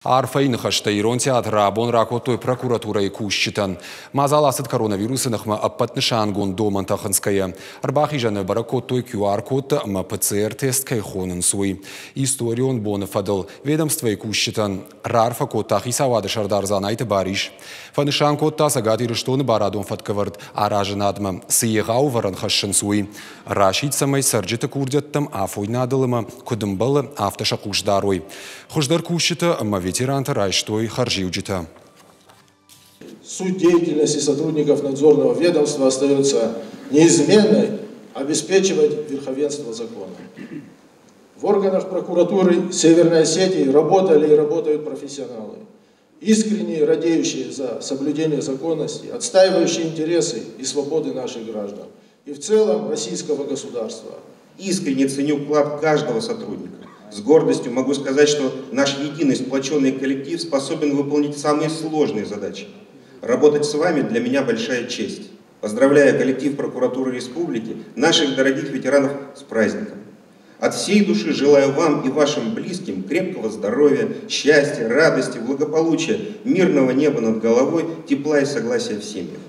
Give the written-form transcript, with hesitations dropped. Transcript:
Арфӕйы ныхӕстӕ Ирон театры абон ракодтой прокуратурӕйы кусджытӕн. Мадзал ацыд коронавирусы ныхмӕ ӕппӕт нысангонд домӕнтӕ хынцгӕйӕ. Ӕрбахизӕны бӕрӕг кодтой QR-кодтӕ ӕмӕ ПЦР-тест кӕй хонынц, уый. Историон боны фӕдыл ведомствойы кусджытӕн раарфӕ кодта хицауады сӕрдар Дзанайты Барис. Фӕнысан кодта Цӕгат Ирыстоны барадон фӕткӕвӕрд аразынадмӕ цы егъау ӕвӕрӕн хӕссынц, уый. Расидт, цӕмӕй цӕрджыты курдиӕттӕм афойнадыл ӕмӕ куыд ӕмбӕлы, афтӕ сӕ хъус дарой. Хуыздӕр кусджытӕ ӕмӕ ветерантӕ райстой хӕрзиуджытӕ. Суть деятельности сотрудников надзорного ведомства остается неизменной – обеспечивать верховенство закона. В органах прокуратуры Северной Осетии работали и работают профессионалы, искренне радеющие за соблюдение законности, отстаивающие интересы и свободы наших граждан и в целом российского государства. Искренне ценю вклад каждого сотрудника. С гордостью могу сказать, что наш единый сплоченный коллектив способен выполнить самые сложные задачи. Работать с вами для меня большая честь. Поздравляю коллектив прокуратуры республики, наших дорогих ветеранов с праздником. От всей души желаю вам и вашим близким крепкого здоровья, счастья, радости, благополучия, мирного неба над головой, тепла и согласия в семьях.